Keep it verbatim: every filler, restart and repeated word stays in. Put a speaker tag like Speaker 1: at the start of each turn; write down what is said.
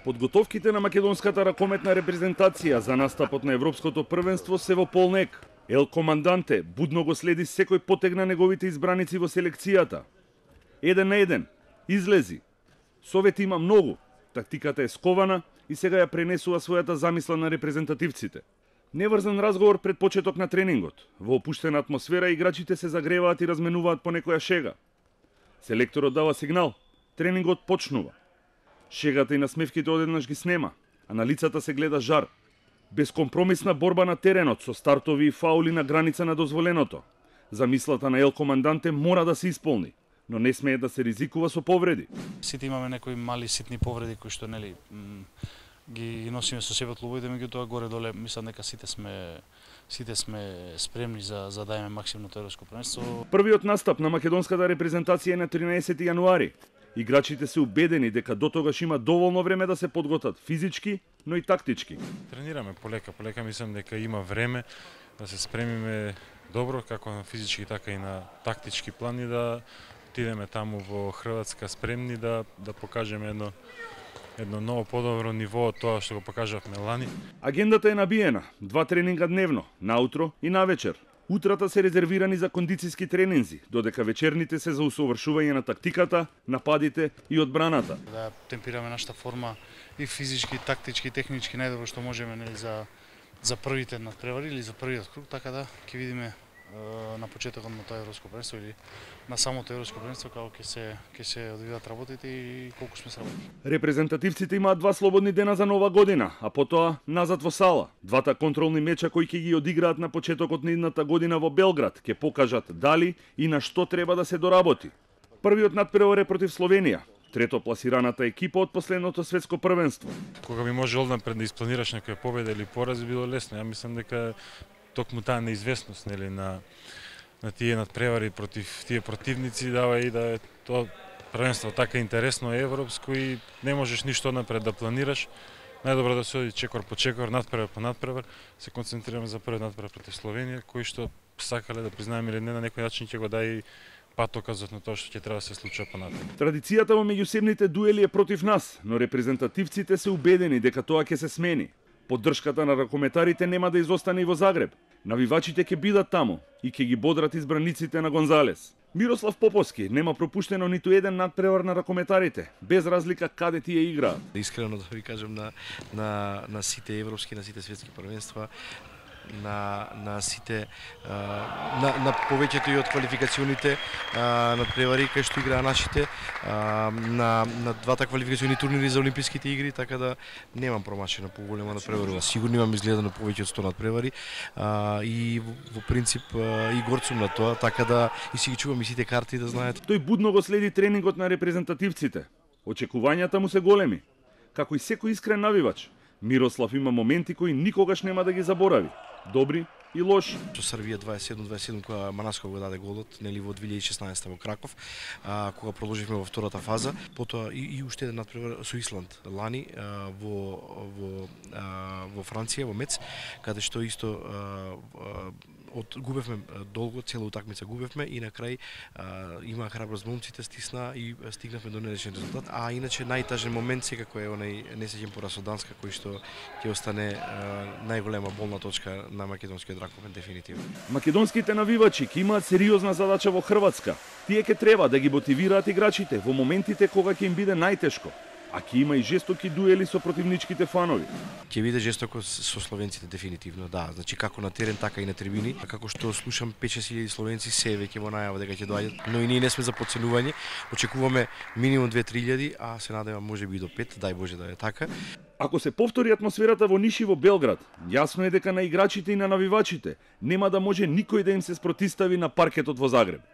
Speaker 1: Подготовките на македонската ракометна репрезентација за настапот на Европското првенство се во полнек. Ел Команданте будно го следи секој потег на неговите избраници во селекцијата. Еден на еден, излези. Совети има многу, тактиката е скована и сега ја пренесува својата замисла на репрезентативците. Неврзан разговор пред почеток на тренингот. Во опуштена атмосфера играчите се загреваат и разменуваат по некоја шега. Селекторот дава сигнал. Тренингот почнува. Шегата и насмевките одеднаш ги снема, а на лицата се гледа жар. Безкомпромисна борба на теренот со стартови и фаули на граница на дозволеното. Замислата на Ел Команданте мора да се исполни, но не смее да се ризикува со повреди.
Speaker 2: Сите имаме некои мали ситни повреди кои што нели ги носиме со себе од клубовите, меѓутоа горе-доле мислам дека сите сме сите сме спремни за за да имаме максимумното европско првенство.
Speaker 1: Првиот настап на македонската репрезентација е на тринаесети јануари. Играчите се убедени дека дотогаш има доволно време да се подготат физички, но и тактички.
Speaker 3: Тренираме полека, полека мислам дека има време да се спремиме добро, како на физички, така и на тактички план и да отидеме таму во Хрватска спремни да да покажеме едно едно ново подобро ниво од тоа што го покажавме лани.
Speaker 1: Агендата е набиена, два тренинга дневно, наутро и навечер. Утрата се резервирани за кондицијски тренинзи, додека вечерните се за усовршување на тактиката, нападите и одбраната.
Speaker 2: Да темпираме нашата форма и физички, тактички, технички најдобро што можеме нели за за првите надпревари или за првиот круг, така да ќе видиме на почетокот на тоа европско првенство или на самото европско првенство како ќе се ќе се одвиваат работите и колку сме сработени.
Speaker 1: Репрезентативците имаат два слободни дена за нова година, а потоа назад во сала. Двата контролни меча кои ќе ги одиграат на почетокот на идната година во Белград ќе покажат дали и на што треба да се доработи. Првиот надпревар е против Словенија, трето пласираната екипа од последното светско првенство.
Speaker 3: Кога би може однапред да испланираш некоја победа или пораз би било лесно. Ја мислам дека токму таа неизвестност нели на на тие надпревари против тие противници дава и да е тоа првенство така интересно европско и не можеш ништо напред да планираш. Најдобро да се оди чекор по чекор, надпревар по надпревар, се концентрираме за првиот надпревар против Словенија, кој што сакале да признаеме или не на некој начин ќе го даде патоказот на тоа што ќе треба да се случува понатаму.
Speaker 1: Традицијата во меѓусебните дуели е против нас, но репрезентативците се убедени дека тоа ќе се смени. Поддршката на ракометарите нема да изостане и во Загреб. Навивачите ќе бидат таму и ќе ги бодрат избраниците на Гонзалес. Мирослав Поповски нема пропуштено ниту еден надпревар на ракометарите, без разлика каде тие играат.
Speaker 4: Искрено да ви кажам на на на сите европски, на сите светски првенства, на на сите на на повеќето и од квалификационите надпревари кај што играа нашите, на на двата квалификациони турнири за олимписките игри, така да немам промашена поголема надпреварува. Сигурно имам изгледано повеќе од сто надпревари и во принцип и горцум на тоа, така да и си ги чувам и сите карти да знаете.
Speaker 1: Тој будно го следи тренингот на репрезентативците. Очекувањата му се големи. Како и секој искрен навивач, Мирослав има моменти кои никогаш нема да ги заборави. Добри и лоши.
Speaker 4: Со Србија дваесет и седум дваесет и седум кога Манаско го даде голот, нели во две илјади и шеснаесета во Краков, а, кога продолживме во втората фаза, потоа и, и уште еден надпревар со Исланд лани а, во во а, во Франција во Мец, каде што исто а, а, од губевме долго, цела утакмица губевме и на крај а, има храброст момците, стисна и стигнавме до нелешен резултат. А иначе најтажен момент секако е онај несеќен пораз од Данска кој што ќе остане а, најголема болна точка на македонскиот ракомет дефинитивно.
Speaker 1: Македонските навивачи ќе имаат сериозна задача во Хрватска. Тие ќе треба да ги мотивираат играчите во моментите кога ќе им биде најтешко. А ќе има и жестоки дуели со противничките фанови.
Speaker 4: Ќе биде жестоко со словенците дефинитивно, да, значи како на терен така и на трибини. А како што слушам пет-шест илјади словенци се веќе во најава дека ќе доаѓат, но и ние не сме за подценување. Очекуваме минимум две-три илјади, а се надевам можеби и до пет, дај Боже да е така.
Speaker 1: Ако се повтори атмосферата во Ниш и во Белград, јасно е дека на играчите и на навивачите нема да може никој да им се спротистави на паркетот во Загреб.